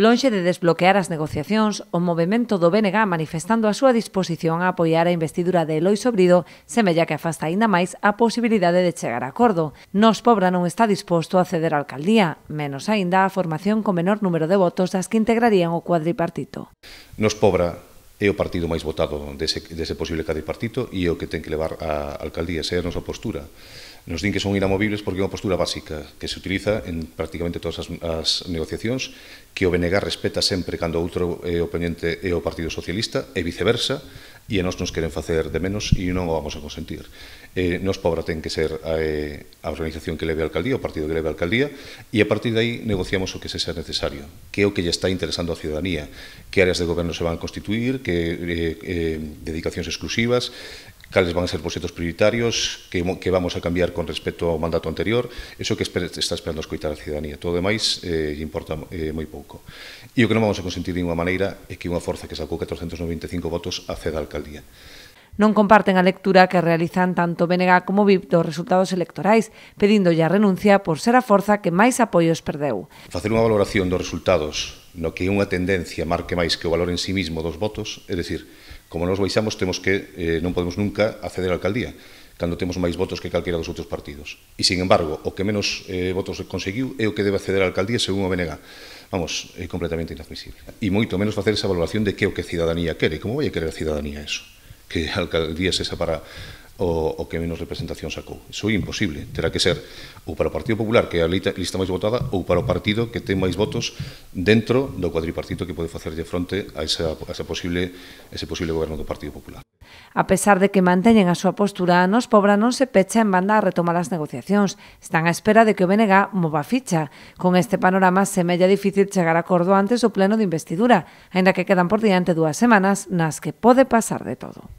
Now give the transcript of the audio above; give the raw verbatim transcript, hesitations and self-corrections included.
Lonxe de desbloquear as negociacións, o movemento do B N G manifestando a súa disposición a apoiar a investidura de Eloi Sobrido semella que afasta aínda máis a posibilidade de chegar a acordo. Nos Pobra non está disposto a ceder á alcaldía, menos aínda a formación con menor número de votos das que integrarían o cuadripartito. Nos Pobra é o partido máis votado dese, dese posible cuadripartito e é o que ten que levar a alcaldía, esa é a nosa postura. Nos din que son inamovibles porque é unha postura básica que se utiliza en prácticamente todas as, as negociacións, que o B N G respeta sempre cando outro é o oponente é o Partido Socialista e viceversa, e a nós nos queren facer de menos e non o vamos a consentir. Eh, nos Pobra ten que ser a, a organización que leve a alcaldía, o partido que leve a alcaldía, e a partir de aí negociamos o que se sea necesario, que é o que lle está interesando a ciudadanía, que áreas de goberno se van a constituir, que eh, eh, dedicacións exclusivas, cales van a ser proxectos prioritarios, que, que vamos a cambiar con respecto ao mandato anterior, iso que espera, está esperando escoitar a ciudadanía. Todo o demais eh, importa eh, moi pouco. E o que non vamos a consentir de unha maneira é que unha forza que sacou catrocentos noventa e cinco votos acceda á alcaldía. Non comparten a lectura que realizan tanto B N G como V I P dos resultados electorais, pedíndolle a renuncia por ser a forza que máis apoios perdeu. Facer unha valoración dos resultados no que unha tendencia marque máis que o valor en sí mismo dos votos, é dicir, como nos baixamos, temos que, eh, non podemos nunca acceder á alcaldía, cando temos máis votos que calquera dos outros partidos. E, sin embargo, o que menos eh, votos conseguiu é o que debe acceder á alcaldía según o B N G. Vamos, é completamente inadmisible. E moito menos facer esa valoración de que é o que a ciudadanía quere. Como vai a querer a ciudadanía eso? Que a alcaldía se separa o, o que menos representación sacou. Iso é imposible. Terá que ser ou para o Partido Popular, que é a lista máis votada, ou para o partido que ten máis votos dentro do cuadripartito que pode facerlle fronte a, esa, a esa posible, ese posible goberno do Partido Popular. A pesar de que manteñen a súa postura, Nos Pobra non se pecha en banda a retomar as negociacións. Están á espera de que o B N G mova ficha. Con este panorama semella difícil chegar a acordo antes do pleno de investidura, aínda que quedan por diante dúas semanas nas que pode pasar de todo.